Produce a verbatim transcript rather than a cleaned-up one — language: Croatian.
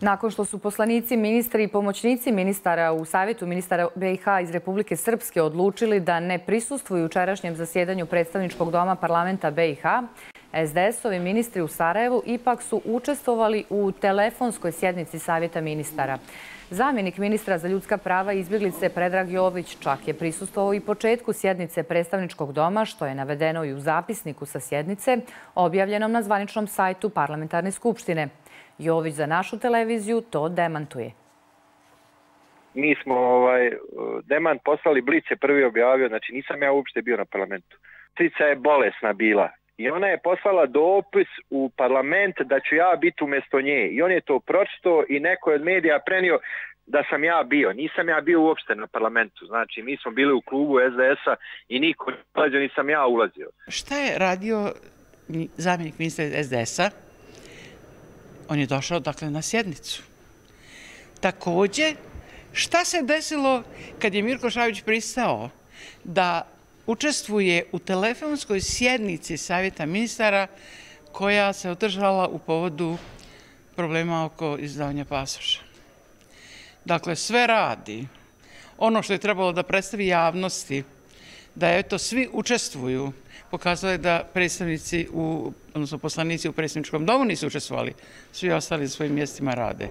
Nakon što su poslanici, ministri i pomoćnici ministara u Savjetu ministara B i H iz Republike Srpske odlučili da ne prisustvuju jučerašnjem zasjedanju predstavničkog doma parlamenta B i H, S D S-ovi ministri u Sarajevu ipak su učestvovali u telefonskoj sjednici Savjeta ministara. Zamjenik ministra za ljudska prava i izbjeglice Predrag Jović čak je prisustvovao i početku sjednice predstavničkog doma, što je navedeno i u zapisniku sa sjednice, objavljenom na zvaničnom sajtu Parlamentarne skupštine. Jović za našu televiziju to demantuje. Mi smo ovaj, demant poslali, Blic je prvi objavio, znači nisam ja uopšte bio na parlamentu. Cica je bolesna bila i ona je poslala dopis u parlament da ću ja biti umjesto nje. I on je to pročitao i neko je od medija prenio da sam ja bio. Nisam ja bio uopšte na parlamentu. Znači, mi smo bili u klubu S D S-a i niko ne ulazio, nisam ja ulazio. Šta je radio zamjenik ministra S D S-a? On je došao, dakle, na sjednicu. Također, šta se desilo kad je Mirko Šabić pristao da učestvuje u telefonskoj sjednici Savjeta ministara koja se održala u povodu problema oko izdavanja pasoša? Dakle, sve radi. Ono što je trebalo da predstavi javnosti, da eto svi učestvuju, pokazalo je da predstavnici, u, odnosno poslanici u predsjedničkom domu nisu učestvovali, svi ostali na svojim mjestima rade.